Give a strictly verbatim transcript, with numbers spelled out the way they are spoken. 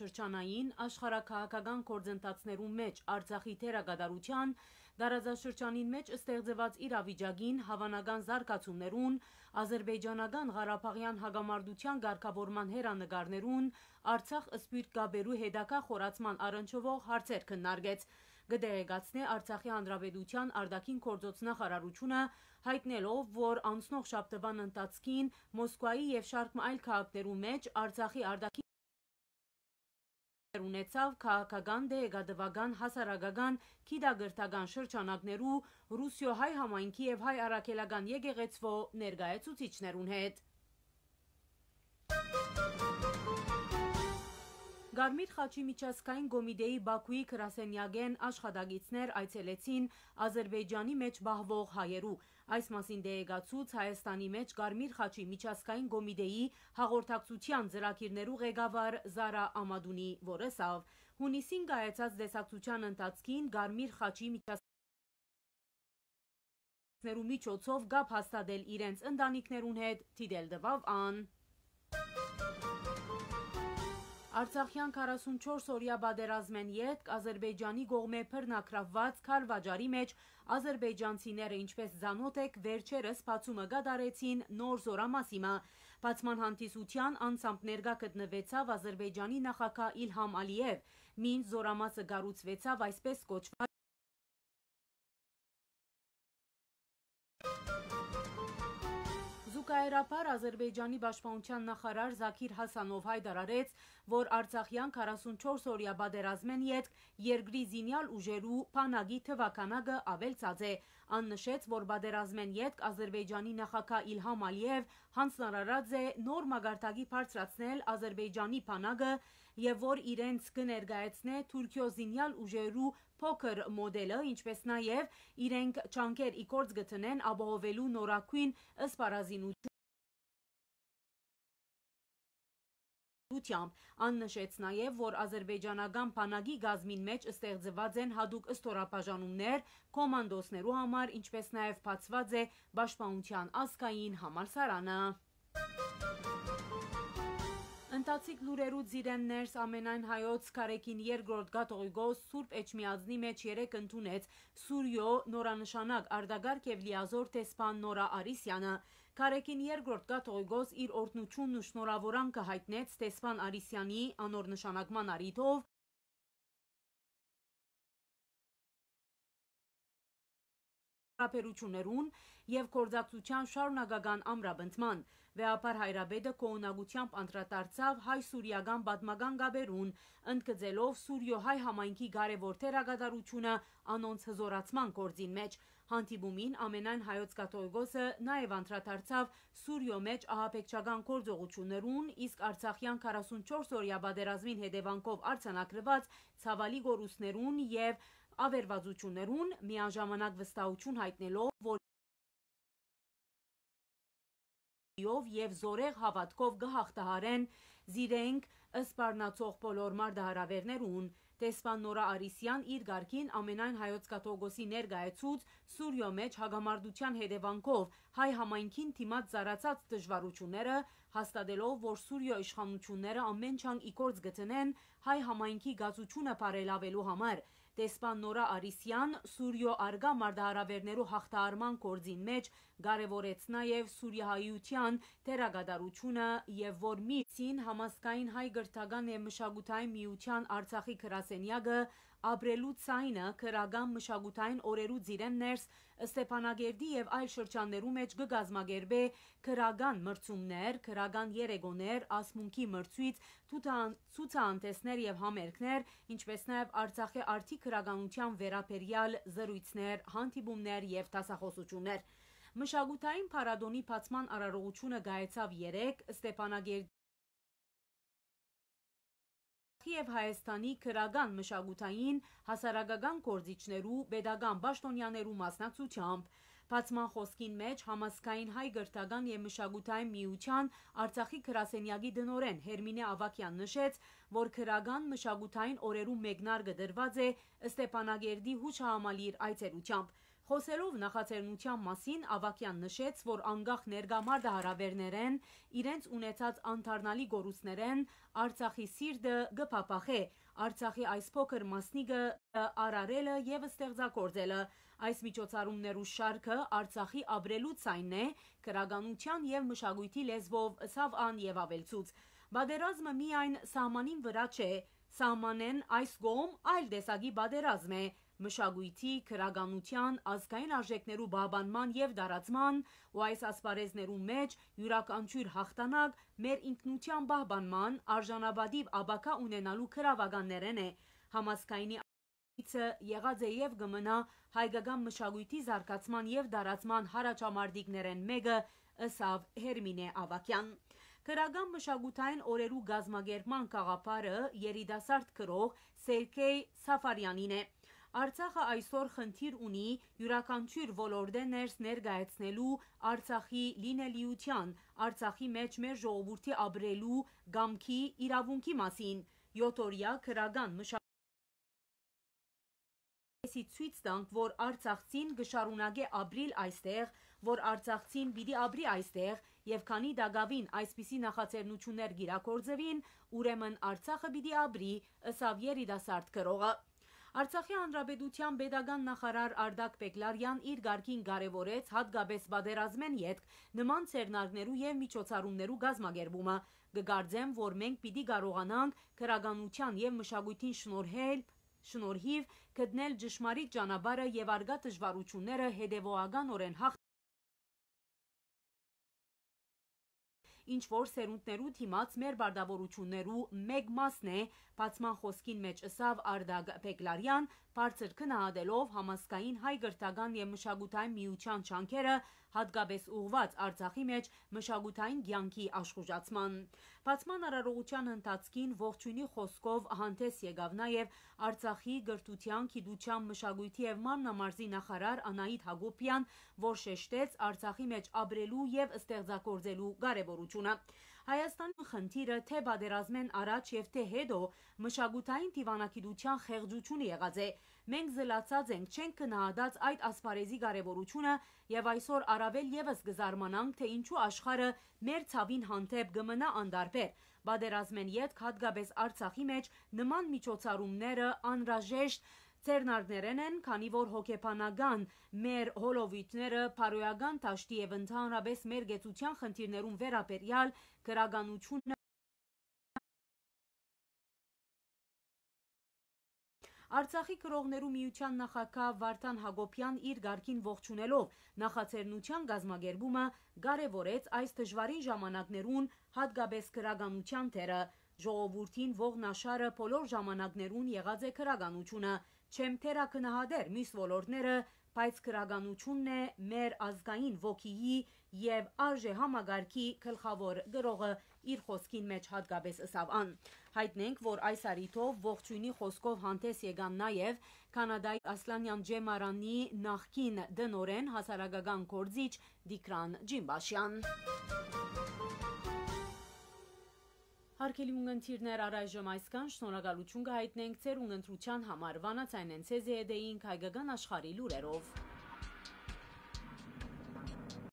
Շրջանային աշխարհաքաղաքական գործընթացներուն մէջ Արցախի դերակատարութեան, տարածաշրջանին մէջ ստեղծուած իրավիճակին, հաւանական զարգացումներուն, Ազրպէյճանական Ղարաբաղեան հակամարտութեան կարգաւորման հեռանկարներուն, Արցախ-Սփիւռք կապերու հետագայ խորացման առնչուող հարցեր քննարկեց։ Կը տեղեկացնէ Արցախի Հանրապետութեան արտաքին գործոց նախարարութիւնը, յայտնելով, որ անցնող շաբթուան ընթացքին Մոսկուայի եւ շարք մը այլ քաղաքներու մէջ Արցախի արտաքին ունեցաւ քաղաքական, տեղեկատուական, հասարակական, գիտակրթական շրջանակներու, Ռուսիոյ հայ համայնքի եւ հայ առաքելական եկեղեցւոյ ներկայացուցիչներուն հետ։ Կարմիր խաչի միջազգային կոմիտեի Բաքուի գրասենեակէն աշխատակիցներ այցելեցին Ազրպէյճանի մէջ պահուող հայերու։ Այս մասին տեղեկացուց Հայաստանի մէջ Կարմիր խաչի միջազգային կոմիտեի հաղորդակցութեան ծրագիրներու ղեկավար Զարա Ամատունի, որ ըսաւ, յունիսին կայացած տեսակցութեան ընթացքին Կարմիր խաչի միջազգային կոմիտեի միջոցով կապ հաստատել իրենց ընտանիքներուն հետ, դիտել տուաւ ան։ Արցախեան քառասունչորս օրեայ պատերազմէն ետք Ազրպէյճանի կողմէ բռնագրաւուած քարվաճառի մէջ ազրպէյճանցիները, ինչպէս ծանօթ էք, վերջերս բացումը կատարեցին նոր զօրամասի մը։ Բացման հանդիսութեան անձամբ ներկայ գտնուեցաւ Ազրպէյճանի նախագահ Իլհամ Ալիեւ։ Մինչ զօրամասը կառուցուեցաւ այսպես կոչուած Զուգահեռաբար Ազրպէյճանի պաշտպանութեան նախարար Զաքիր Հասանով յայտարարեց, որ Արցախեան քառասունչորս օրեայ պատերազմէն ետք երկրի զինեալ ուժերու բանակի թուաքանակը աւելցած է։ Ան նշեց, որ պատերազմէն ետք Ազրպէյճանի նախագահ Իլհամ Ալիեւ յանձնարարած է նոր մակարդակի բարձրացնել Ազրպէյճանի բանակը եւ որ իրենց կը ներկայացնէ Թուրքիոյ զինեալ ուժերու փոքր մոդելը, ինչպէս նաեւ իրենք ջանքեր ի գործ կը դնեն ապահովելու նորագոյն սպառազինութիւնը։ Ան նշեց նաեւ, որ ազրպէյճանական բանակի կազմին մէջ ստեղծուած են յատուկ ստորաբաժանումներ կոմանդոսներու համար, ինչպէս նաեւ բացուած է պաշտպանութեան ազգային համալսարանը։ Ընթացիկ լուրերու ծիրէն ներս, ամենայն հայոց Գարեգին երկրորդ կաթողիկոս Սուրբ Էջմիածնի մէջ երեկ ընդունեց Սուրիոյ նորանշանակ արտակարգ եւ լիազօր դեսպան Նորա Արիսյանը։ Գարեգին երկրորդ կաթողիկոս իր օրհնութիւնն ու շնորհաւորանքը յայտնեց դեսպան Արիսյանի անոր նշանակման առիթով հարաբերութիւններուն եւ գործակցութեան շարունակական ամրապնդման։ Վեհափառ հայրապետը գոհունակութեամբ անդրադարձաւ հայ-սուրիական պատմական կապերուն, ընդգծելով Սուրիոյ հայ համայնքի կարեւոր դերակատարութիւնը անոնց հզօրացման գործին մէջ։ Հանդիպումին ամենայն հայոց կաթողիկոսը նաեւ անդրադարձաւ Սուրիոյ մէջ ահաբեկչական գործողութիւններուն, իսկ Արցախեան քառասունչորս օրեայ պատերազմին հետեւանքով արձանագրուած ցաւալի կորուստներուն եւ աւերուածութիւններուն, միաժամանակ վստահութիւն յայտնելով, որ ով եւ զորեղ հաւատքով կը յաղթահարեն զիրենք սպառնացող բոլոր մարտահրաւերներուն։ Դեսպան Նորա Արիսեան իր կարգին ամենայն հայոց կաթողիկոսի ներկայացուց Սուրիոյ մէջ հակամարտութեան հետեւանքով հայ համայնքին դիմաց ծառացած դժուարութիւնները, հաստատելով, որ Սուրիոյ իշխանութիւնները ամէն ջանք ի գործ կը դնեն հայ համայնքի կացութիւնը բարելաւելու համար։ Դեսպան Նորա Արիսեան Սուրիոյ առկայ մարտահրաւերներու յաղթահարման գործին մէջ կարեւորեց նաեւ սուրիահայութեան դերակատարութիւնը եւ որ մինչին Համազգային հայ կրթական եւ մշակութային միութեան Արցախի գրասենեակը Ապրելու ձայնը գրական մշակութային օրերու ծիրէն ներս Ստեփանակերտի եւ այլ շրջաններու մէջ կը կազմակերպէ գրական մրցումներ, գրական երեկոներ, ասմունքի մրցոյց, ցուցահան-, ցուցահանդէսներ եւ համերգներ, ինչպէս նաեւ Արցախի արդի գրականութեան վերաբերեալ զրոյցներ, հանդիպումներ եւ դասախօսութիւններ։ Մշակութային փառատոնի բացման արարողութիւնը կայացաւ երեկ Ստեփանակերտի եւ Հայաստանի գրական, մշակութային, հասարակական գործիչներու, պետական պաշտօնեաներու մասնակցությամբ։ Բացման խօսքին մէջ Համազգային հայ կրթական եւ մշակութային միութեան Արցախի գրասենեակի տնօրէն Հերմինէ Աւագեան նշեց, որ քրական մշակութային օրերու մեկնարկը դրուած է Ստեփանակերտի Հուշահամալիր այցելութեամբ։ Խօսելով նախաձեռնութեան մասին, Աւագեան նշեց, որ անկախ ներկայ մարտահրաւէրներէն իրենց ունեցած անդառնալի կորուստներէն Արցախի սիրտը կը փափախէ Արցախի այս փոքր մասնիկը արարելը եւ ստեղծագործելը։ Այս միջոցառումներու շարքը Արցախի ապրելու ձայնն է, գրականութեան եւ մշակոյթի լեզուով, ըսաւ ան եւ աւելցուց. «Պատերազմը միայն սահմանին վրայ չէ, սահմանէն այս կողմ այլ տեսակի պատերազմ է, մշակոյթի, գրականութեան, ազգային արժեքներու պահպանման եւ տարածման ու այս ասպարեզներու մէջ իւրաքանչիւր հաղթանակ մեր ինքնութեան պահպանման, արժանապատիւ ապագայ ունենալու գրաւականներէն է։ Համազգայինի այցը եղած է եւ կը մնայ հայկական մշակոյթի զարգացման եւ տարածման յառաջամարտիկներէն մէկը», ըսաւ Հերմինէ Աւագեան։ Քրական մշակութային օրերու կազմակերպման գաղափարը երիտասարդ գրող Սերգեյ Սաֆարյանին է։ Արցախը այսօր խնդիր ունի իւրաքանչիւր ոլորտէ ներս ներկայացնելու Արցախի լինելիութեան, Արցախի մէջ մեր ժողովուրդի ապրելու կամքի իրաւունքի մասին։ Յոթօրեայ քրական մշակութային ցոյց տանք, որ արցախցին կը շարունակէ ապրիլ այստեղ, որ արցախցին պիտի ապրի այստեղ, եւ քանի տակաւին այսպիսի նախաձեռնութիւններ կ'իրագործուին, ուրեմն Արցախը պիտի ապրի, ըսաւ երիտասարդ գրողը։ Արցախի Հանրապետութեան պետական նախարար Արտակ Պեկլարեան իր կարգին կարեւորեց յատկապես պատերազմէն ետք նման ձեռնարկներու եւ միջոցառումներու կազմակերպումը։ «Կը կարծեմ, որ մենք պիտի կարողանանք քրականութեան եւ մշակոյթին շնորհել, շնորհիւ գտնել ճշմարիտ ճանապարհը եւ առկայ դժուարութիւնները հետեւողականօրէն հաղթ ինչ որ սերունդներու դիմաց մեր պարտաւորութիւններու մէկ մասն է», բացման խօսքին մէջ ըսաւ Արտակ Պեկլարեան, բարձր գնահատելով Համազգային հայ կրթական եւ մշակութային միութեան ջանքերը, յատկապես ուղղուած Արցախի մէջ մշակութային կեանքի աշխուժացման։ Բացման արարողութեան ընթացքին ողջոյնի խօսքով հանդէս եկաւ նաեւ Արցախի կրթութեան, գիտութեան, մշակոյթի եւ մարմնամարզի նախարար Անահիտ Յակոբեան, որ շեշտեց Արցախի մէջ ապրելու եւ ստեղծագործելու կարեւորութիւնը։ Հայաստանի խնդիրը թէ պատերազմէն առաջ եւ թէ հետո մշակութային դիւանագիտութեան խեղճութիւնը եղած է։ Մենք զլացած ենք, չենք գնահատած այդ ասպարէզի կարեւորութիւնը եւ այսօր առաւել եւս կը զարմանանք, թէ ինչու աշխարհը մեր ցաւին հանդէպ կը մնայ անտարբեր։ Պատերազմէն ետք յատկապես Արցախի մէջ նման միջոցառումները անհրաժեշտ ձեռնարկներէն են, քանի որ հոգեբանական մեր հոլովոյթները, բարոյական դաշտի եւ ընդհանրապես մեր կեցության խնդիրներուն վերաբերեալ գրականութիւնը Արցախի գրողներու միութեան նախագահ Վարդան Յակոբեան իր կարգին ողջունելով նախաձեռնութեան կազմակերպումը, կարեւորեց այս դժուարին ժամանակներուն յատկապես գրականութեան դերը։ Ժողովուրդին ողնաշարը բոլոր ժամանակներուն եղած է գրականութիւնը։ Չեմ թերագնահատեր միւս ոլորտները, բայց գրականութիւնն է մեր ազգային ոգիի եւ արժեհամակարգի գլխաւոր գրողը, իր խօսքին մէջ յատկապես ըսաւ ան։ Յայտնենք, որ այս առիթով ողջոյնի խօսքով հանդէս եկան նաեւ Քանադայի Ասլանեան Ջեմարանի նախկին տնօրէն, հասարակական գործիչ Տիգրան Ջիմբաշեան։ Հարգելի ունգընտիրներ, առայժմ այսքան, շնորհակալութիւն կը յայտնենք ձեր ունգընտրութեան համար։ Վանաձայնէն ձեզի հետ էինք հայկական աշխարհի լուրերով։